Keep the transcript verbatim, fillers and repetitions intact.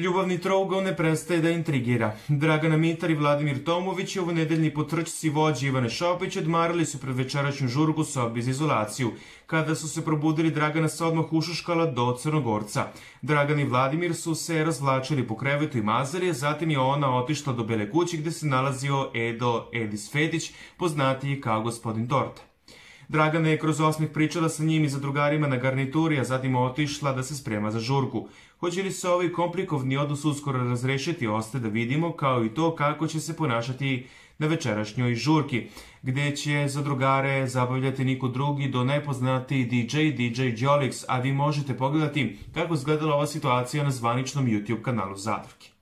Ljubavni trougao ne prestaje da intrigira. Dragana Mitar i Vladimir Tomović, ovonedeljni potrčci vođe Ivane Šopić, odmarali su pred večerašnju žurku u sobi za izolaciju. Kada su se probudili, Dragana se odmah ušuškala do Crnogorca. Dragan i Vladimir su se razvlačili po krevetu i mazali, a zatim je ona otišla do Bele kuće gde se nalazio Edo Edis Fetić, poznatiji kao gospodin Torta. Dragana je kroz osmeh pričala sa njim i za drugarima na garnituri, a zatim otišla da se sprema za žurku. Hoće li se ovaj komplikovni odnos uskoro razrešiti, ostaje da vidimo, kao i to kako će se ponašati na večerašnjoj žurki, gde će za drugare zabavljati niko drugi do nepoznati D J D J Jolix, a vi možete pogledati kako izgledala ova situacija na zvaničnom YouTube kanalu Zadruge.